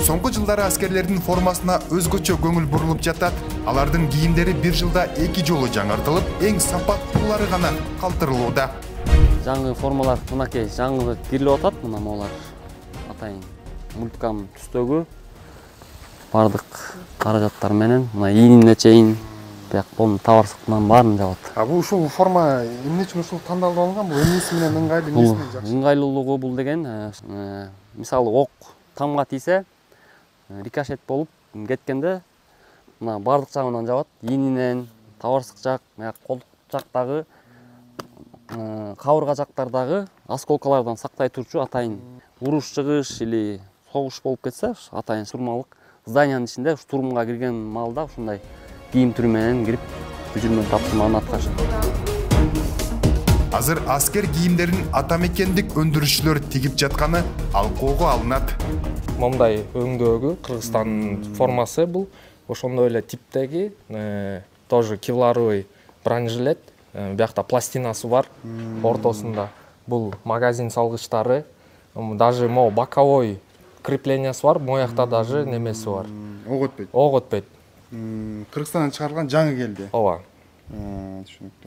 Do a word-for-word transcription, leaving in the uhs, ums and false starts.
Соңку жылдары аскерлердин формасына өзгөчө көңүл бурулуп жатат. Алардын кийимдери бир жылда эки жолу жаңыртылып, эң сапаттуулары гана калтырылууда. Жаңы формалар мынакей жаңы кирилип атат, мына могулар атайын мульткам түстөгү бардык каражаттар менен, мына ийинине чейин бияк колдун табарсыктан баарын жабат. А бул ушул форма эмне үчүн ушул тандалып алынган? Бул эмнеси менен ыңгайлуу, эмнеси менен жакшы? Ыңгайлуулугу бул деген, мисалы ок тамга тийсе, рикошет болуп кеткенде мына бардык жагынан жабат. Ийининен, табарсык жак, колдук жактагы, кабырга жактардагы осколкалардан сактай турчу атайын уруш чыгыш или согуш болуп кетсе, атайын сурмалык зданиянын ичинде штурмга кирген маалда ушундай кийим түрү менен кирип бүжүрмө тапшырманы аткарышат. Азыр аскер кийимдерин ата мекендик өндүрүшчүлөр тигип жатканы алкоого алынат. Момундай өңдөгү Кыргызстандын формасы бул. Ошондой эле типтеги, тоже кевларовый бронежилет. Биякта пластинасы бар ортосунда. Бул магазин салгычтары, даже могу боковой креплениясы бар, моякта даже немеси бар. Ок өтпөйт. Ок өтпөйт. Кыргызстандан чыгарылган жаңы келди. Ооба. Түшүнүктүү.